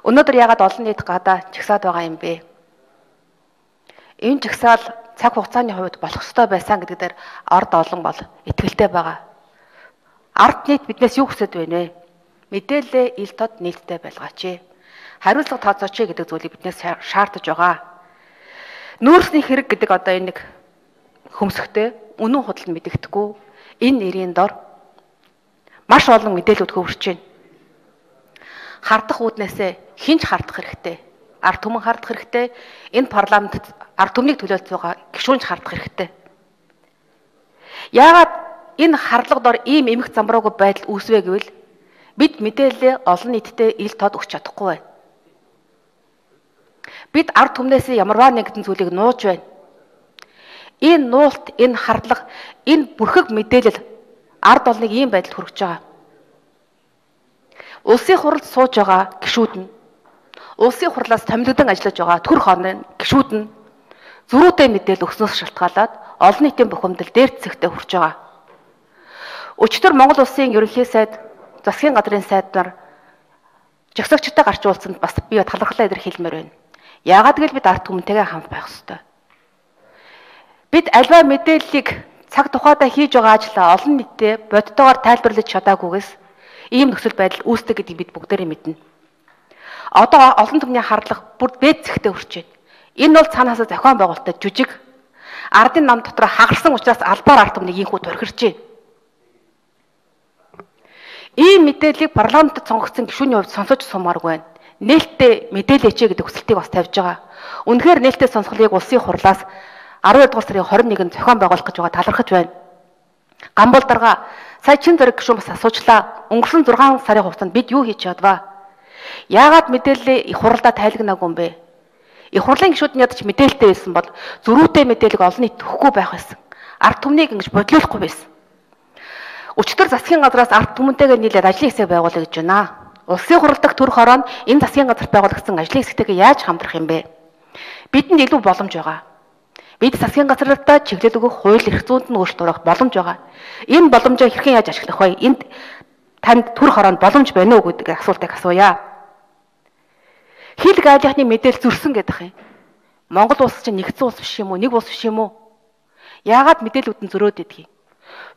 Өнөөдөр яагаад олон нийт гадаа чагсаад байгаа юм бэ? Энэ чагсаал цаг хугацааны хувьд болох ёстой байсан гэдэг дээр ард олон бол итгэлтэй байгаа. Ард нийт биднээс юу хүсэж байна вэ? Мэдээлэл ил тод нийтдээ байлгаач. Хариуцлага тооцооч гэдэг зүйлийг биднээс шаардаж байгаа. Нүүрсний хэрэг гэдэг одоо энэ нэг хөмсгтэй үнэн худал мэдэгдэхгүй энэ нэрийн дор маш олон мэдээлэлүүд хөвөрч байна. Хардах үүднээсээ хинч хардах хэрэгтэй. Ард түмэн хардах хэрэгтэй. Энэ парламентд ард түмнийг төлөөлж байгаа гишүүнч хардах хэрэгтэй. Яагаад энэ харлага дор ийм эмх замбраагүй байдал үүсвэ гэвэл бид мэдээлэлээ олон нийтэд ил тод өгч чадахгүй байна. Бид ард түмнээс ямарваа нэгэн зүйлийг нууж байна. Энэ нуулт, энэ харлага, энэ бүрхэг мэдээлэл ард олныг ийм байдалд хүргэж байгаа. Улсын хурлд сууж байгаа гишүүд нь, улсын хурлаас томилогдсон ажиллаж байгаа төр хоолны гишүүд нь зөрүүтэй мэдээлэл өгснөөс шалтгаалаад олон нийтийн бухимдал дээр зэгтээ хүрч байгаа. Өчигдөр Монгол Улсын ерөнхий сайд, засгийн газрын сайд нар жагсагчтай гарч уулзсанд бас би талархлаа илэрхийлмээр байна. Яагаад гэвэл бид ард түмэнтэйгээ хамт байх ёстой. Бид альва мэдээллийг цаг тухайдаа хийж байгаа ажлаа олон нийтэд бодтойгоор тайлбарлаж чадаагүйгээс ийм нөхцөл байдал үүсдэг гэдгийг бид бүгдээрээ мэднэ. Одоо олон түмний харлага бүр дээд зэгтээ хүрч байна. Энэ бол цаанаасаа зохион байгуулалтад жүжиг ардын нам дотор хагарсан учраас албаар ард түмнийг ийхүү торхирч байна. Ийм мэдээллийг парламентд сонгогдсон гишүүний хувьд сонсож сумааргүй байна. Нээлттэй мэдээлээч гэдэг хүсэлтийг бас тавьж байгаа. Үнэхээр нээлттэй сонсголыг улсын хурлаас 12 дугаар сарын 21-нд зохион байгуулах гэж байгаа талархаж байна. Гамбол дарга сая чин зэрэг гишүүн бас асуучлаа. Өнгөрсөн 6 сарын хугацаанд бид юу хийж чадваа? Яагаад мэдээлэлээ их хуралдаа тайлагнаагүй юм бэ? Их хурлын гишүүд нь ядаж мэдээлэлтэй байсан бол зөрүүтэй мэдээлэл олон нийт өгөхгүй байх байсан. Ард түмнийг ингэж бодлуулахгүй байсан. Өчигдөр засгийн газраас ард түмэнтэйгээ нийлээд ажлын хэсэг байгуулъя гэж байна. Улсын хурал дахь төр хороо нь энэ засгийн газарт байгуулагдсан ажлын хэсэгтэйгээ яаж хамтрах юм бэ? Бидэнд илүү боломж байгаа. Бид засгийн газруудаа чиглэл өгөх хууль эрх зүйнд нь өөрчлөлт оруулах боломж байгаа. Энэ боломжоо хэрхэн яаж ашиглах вэ? Энд танд төр хороонд боломж байна уу гэдэг асуултыг асууя. Хил гайлихны мэдээлэл зөрсөн гэдэг юм. Монгол улс чинь нэгдсэн улс биш юм уу? Нэг улс биш юм уу? Яагаад мэдээлэлүүд нь зөрөөд идэх юм?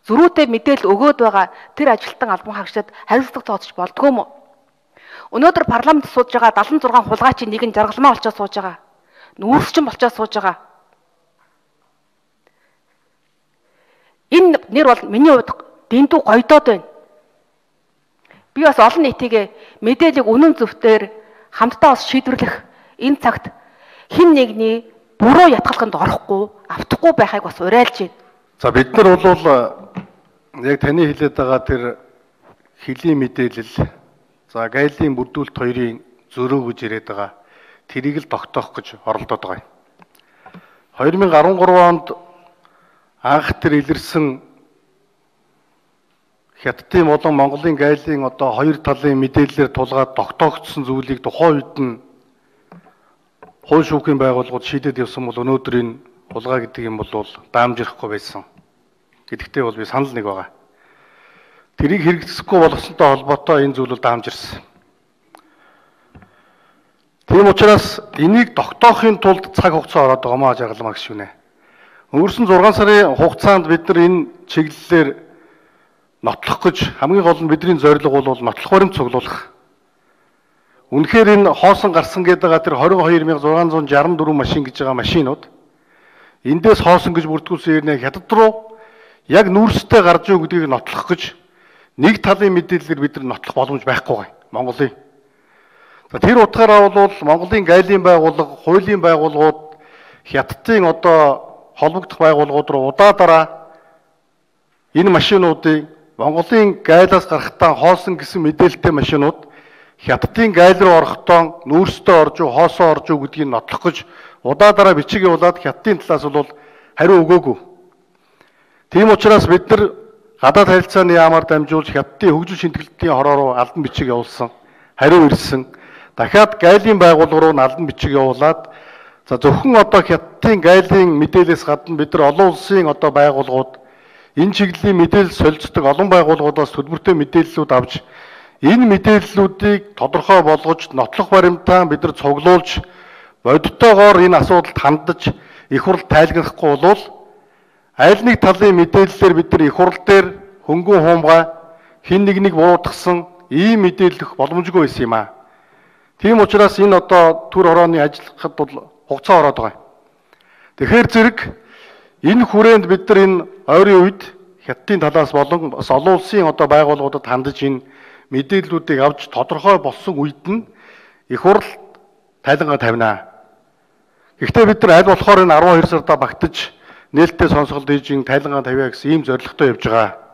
Зөрүүтэй мэдээлэл өгөөд байгаа тэр ажилтан албан хаагчдад хариуцлага тооцож болдгоо юм уу? Өнөөдөр парламент сууж байгаа 76 хулгайчийн нэг нь жаргалмаа олчоод сууж байгаа. Нүүрсчин болчоод сууж байгаа. Энэ нэр бол миний хувьд дэндүү гоёдоод байна. Би бас олон нийтийн мэдээллийг үнэн зөвтөр хамтдаа бас шийдвэрлэх энэ цагт хэн нэгний буруу ятгалханд орохгүй, автахгүй байхыг бас уриалж байна. За бид нар бол яг таны хэлээд байгаа тэр хэлийн мэдээлэл, за гайлын бүрдүүлэлт хоёрын зөрөө гэж яриад байгаа. Тэрийг л тогтоох гэж оролдоод байгаа юм. 2013 онд анх тэр илэрсэн Хятадын болон Монголын гайлын одоо хоёр талын мэдээллээр тулгаад тогтоогдсон зүйлийг тухайн үед нь хууль шүүхийн байгууллагууд шийдээд явсан бол өнөөдөр энэ хулгай гэдэг юм бол даамжирахгүй байсан. Гэдэгтээ бол би санал нэг байгаа. Тэрийг хэрэгжихгүй болгосонтой холбоотой энэ зүйл бол даамжирсан. Тийм учраас энийг тогтоохын тулд цаг хугацаа ороод байгаа маа жаргалмаа гişүнэ. Өнгөрсөн 6 сарын хугацаанд бид нар энэ чиглэлээр нотлох гэж хамгийн гол нь бидний зорилго бол нотлох баримт цуглуулах. Үнэхээр энэ хоосон гарсан гэдэг байгаа тэр 22664 машин гэж байгаа машинууд эндээс хоосон гэж бүрдгүүлсэн хэрнээ Хятад руу яг нүүрстэй гарч ийн гэдгийг нотлох гэж нэг талын мэдээллээр бид нар нотлох боломж байхгүй гай Монголын. За тэр утгаараа бол Монголын гайлын байгууллага, хуулийн байгууллагууд Хятадын одоо холбогдох байгууллагууд руу удаадараа энэ машинуудыг Монголын гайлаас гарахтаа хоосон гэсэн мэдээлэлтэй машинууд Хятадын гайл руу орохдоо нүүрстэй орж уу, хоосоо орж уу гэдгийг нотлох гэж удаадараа бичиг явуулаад Хятадын талаас бол хариу өгөөгүй. Тийм учраас бид нар гадаад харилцааны яамаар дамжуулж Хятадын хөгжил шинтгэлтийн хороо руу албан бичиг явуулсан. Хариу ирсэн. Дахиад гайлын байгууллага руу албан бичиг явуулаад за зөвхөн одоо Хятадын гайлын мэдээлэлээс гадна бид нар олон улсын одоо байгууллагууд энэ чиглэлийн мэдээлэл солилцдог олон байгууллагуудаас төлбөртэй мэдээллүүд авч Энэ мэдээллүүдийг тодорхой болгож, нотлох баримтаа бид нар цуглуулж, бодиттойгоор энэ асуудалд хандаж их хурл тайлгнахгүй бол аль нэг талын мэдээллээр бид нар их хурл дээр хөнгөн хуумгай хин нэг буруутгасан ийм мэдээлэл өгөх боломжгүй байсан юм аа. Тийм учраас энэ одоо төр хорооны ажиллахад бол хугацаа ороод байгаа. Тэгэхээр зэрэг энэ хүрээнд бид нар энэ ойрын үед хятадын талаас болон бас олон улсын одоо байгууллагуудад хандаж энэ мэдээллүүдийг авч тодорхой болсон үед нь их хурл тайлангаа тавина. Гэхдээ бид нар аль болохоор энэ 12 сарда багтаж нээлттэй сонсголт хийж тайлангаа тавиа гэсэн ийм зорилготой явж байгаа.